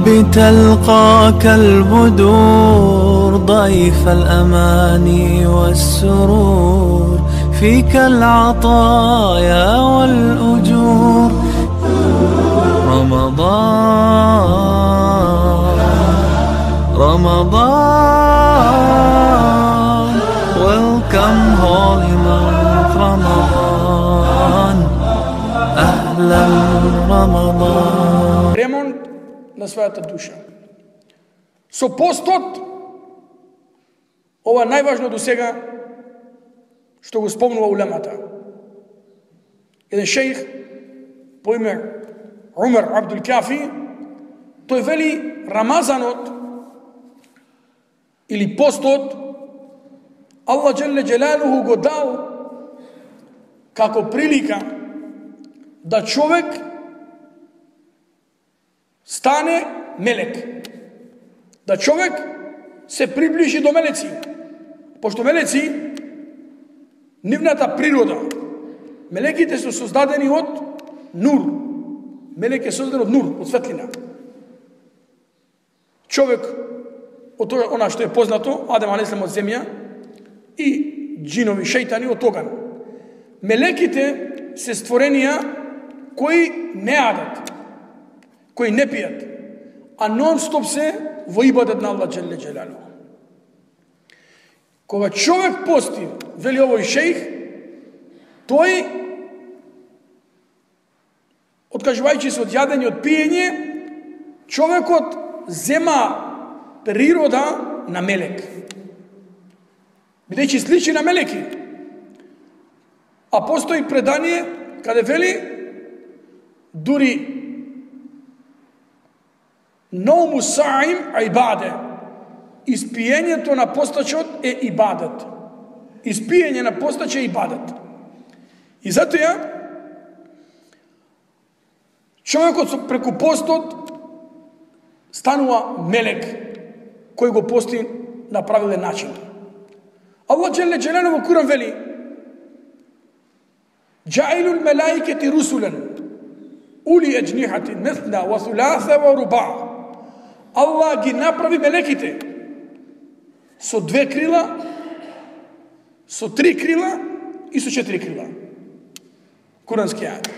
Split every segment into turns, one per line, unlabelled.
بتلقاك البدور ضيف الأماني والسرور فيك العطايا والأجور رمضان welcome holy month رمضان أهلا رمضان.
Ремонт на својата душа. Со постот, ова најважно до сега што го спомнува улемата. Еден шејх по име Умер Абдул Кафи, тој вели Рамазанот или постот Аллах Джелле Джелалуху го дал како прилика да човек стане мелек. Да човек се приближи до мелеци. Пошто мелеци, нивната природа, мелеките се создадени од нур. Мелек е создаден од нур, од светлина. Човек, од она што е познато, Адем алейхиссалам од земја и џинови, шејтани од оган. Мелеките се створенија кои не јадат, кои не пијат, а нон-стоп се во ибадет на Аллах Джелле Джелалуху. Кога човек пости, вели овој шејх, тој, откажувајќи се од јадење, од пиење, човекот зема природа на мелек. Бидејќи сличи на мелеки. А постои предание каде вели дури Ноуму саим ибаде. Испиењето на постачот е ибадет. Испиење на постач е ибадет. И затоа човекот преку постот станува мелек кој го пости на правилен начин. Аллах Джелле Джелалуху во Куран вели Джаилул мелаикати русулан ули еджнихати месна ва суласа ва руба. Аллах ги направи мелеките со 2 крила, со 3 крила и со 4 крила. Курански ајат.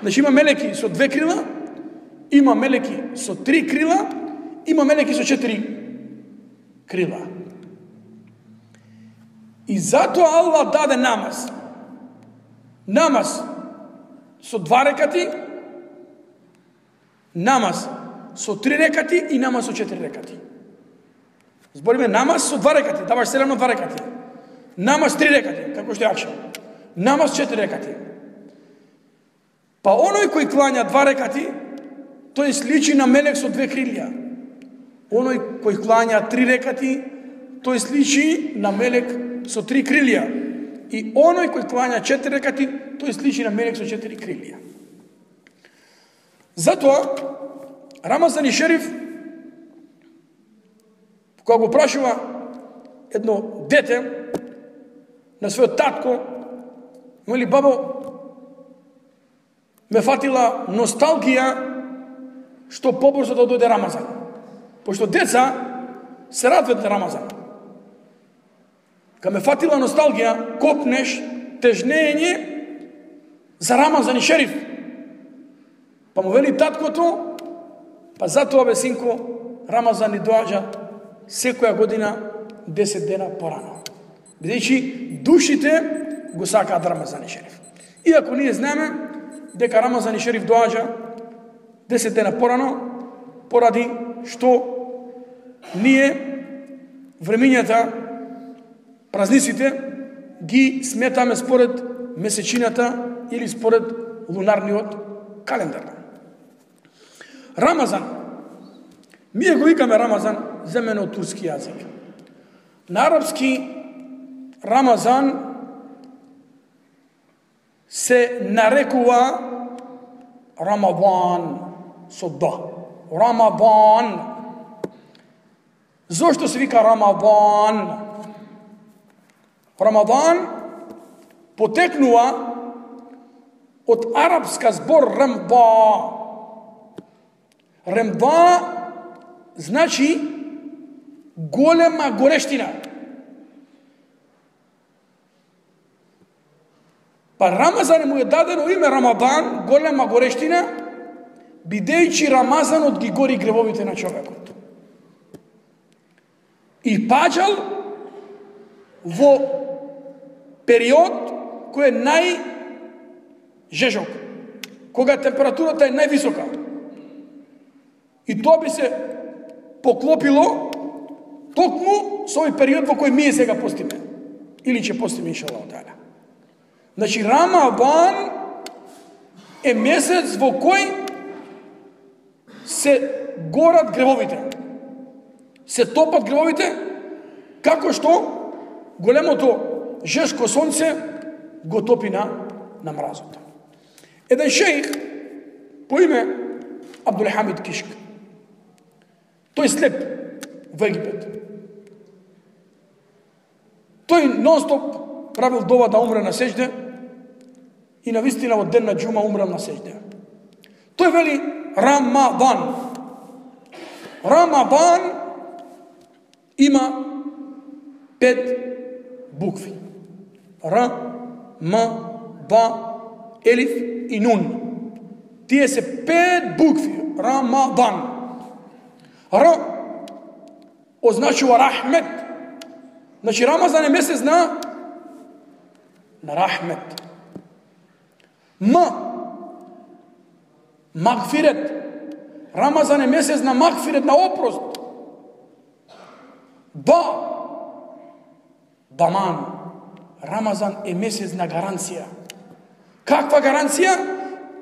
Значи има мелеки со 2 крила, има мелеки со 3 крила, има мелеки со 4 крила. И затоа Аллах даде намаз. Намаз со 2 рекати, намаз со 3 рекати и намаз со 4 рекати. Збориме намаз со 2 рекати, даваш селено 2 рекати. Намаз 3 рекати, како што е акшам. Намаз 4 рекати. Па оној кој клања 2 рекати, тој сличи на мелек со 2 крилја. Оној кој клања 3 рекати, тој сличи на мелек со 3 крилја. И оној кој клања 4 рекати, тој сличи на мелек со 4 крилја. Затоа Рамазан и Шериф, кога го прашува едно дете на својот татко, вели бабо, ме фатила носталгија што побрзо да дојде Рамазан. Пошто деца се радват на Рамазан. Кога ме фатила носталгија, копнеш тежнење за Рамазан и Шериф. Па му вели таткото, па затоа бе синко, Рамазан ни доаѓа секоја година 10 дена порано. Бидејќи душите го сакаат Рамазан и Шериф. Иако ние знаеме дека Рамазан и Шериф доаѓа 10 дена порано, поради што ние времињата, празниците ги сметаме според месечината или според лунарниот календар. Рамазан. Ние го викаме Рамазан, земено од турски јазик. На арапски Рамазан се нарекува Рамадан со да. Рамадан. Зошто се вика Рамадан? Рамадан потекнува од арапска збор рамба. Рамба значи голема горештина. Па Рамазан му е дадено име Рамадан, голема горештина, бидејќи Рамазанот ги гори гревовите на човекот. И паѓал во период кој е најжежок, кога температурата е највисока. И тоа би се поклопило токму со овој период во кој ние сега постиме. Или ќе постиме иншаллах таала. Значи Рамадан е месец во кој се горат гревовите. Се топат гревовите, како што големото жешко сонце го топи на мразот. Еден шејх по име Абдулхамид Кишк. Тој слеп во Египет. Тој нон-стоп правил дова да умре на сеџде и на вистина во ден на џума умрел на сеџде. Тој вели Рамадан. Рамадан има 5 букви. Р, М, Б, Елиф и Нун. Тие се 5 букви. Рамадан. Р означува рахмет. Значи Рамазан е месец на рахмет. М магфирет. Рамазан е месец на магфирет, на опрост. Даман. Рамазан е месец на гаранција. Каква гаранција?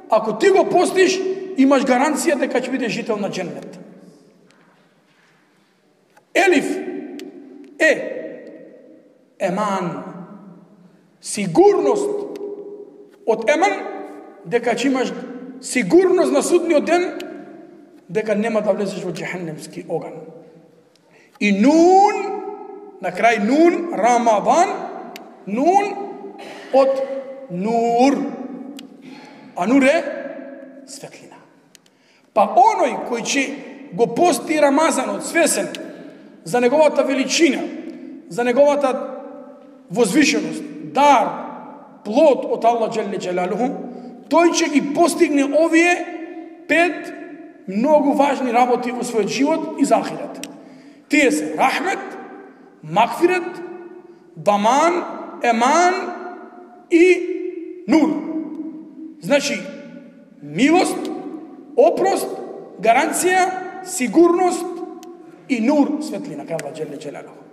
Ако ти го постиш, имаш гаранција дека ќе бидеш жител на џеннет. Елиф е еман. Сигурност од еман, дека ќе имаш сигурност на судниот ден, дека нема да влезеш во џехенемски оган. И Нун, на крај Нун, Рамадан, Нун од Нур. А Нур е светлина. Па оној кој ќе го пости Рамазанот свесен за неговата величина, за неговата возвишеност, дар, плод од Аллах Джелле Джелалуху, тој ќе ги постигне овие 5 многу важни работи во својот живот и за ахирет. Тие се рахмет, магфирет, даман, еман и нур. Значи, милост, опрост, гаранција, сигурност и нур, светлина, кај Аллах Джелле Джелалуху.